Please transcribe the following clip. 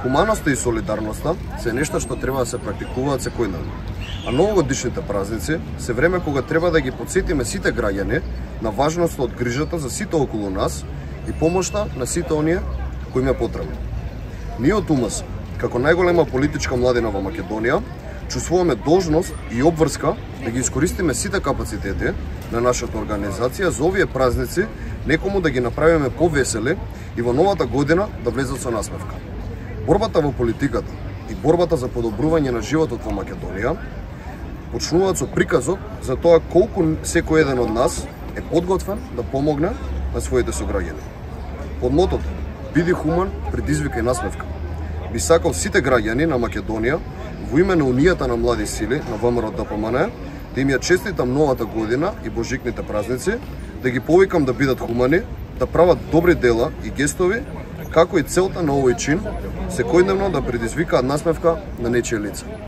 Хуманоста и солидарноста се нешто што треба да се практикуваат секојдневно. А новогодишните празници се време кога треба да ги потсетиме сите граѓани на важноста од грижата за сите околу нас и помошта на сите оние кои им е потребно. Ние од УМС, како најголема политичка младина во Македонија, чувствуваме должност и обврска да ги искористиме сите капацитети на нашата организација за овие празници некому да ги направиме повесели и во новата година да влезат со насмевка. Борбата во политиката и борбата за подобрување на животот во Македонија почнуваат со приказот за тоа колку секој еден од нас е подготвен да помогне на своите сограѓани. Под мотото "Биди хуман, предизвикај насмевка", би сакал сите граѓани на Македонија во име на Унијата на млади сили на ВМРО-ДПМН да им ја честитам новата година и божикните празници, да ги повикам да бидат хумани, да прават добри дела и гестови, како и целта на овој чин, секојдневно да предизвикаат насмевка на нечие лице.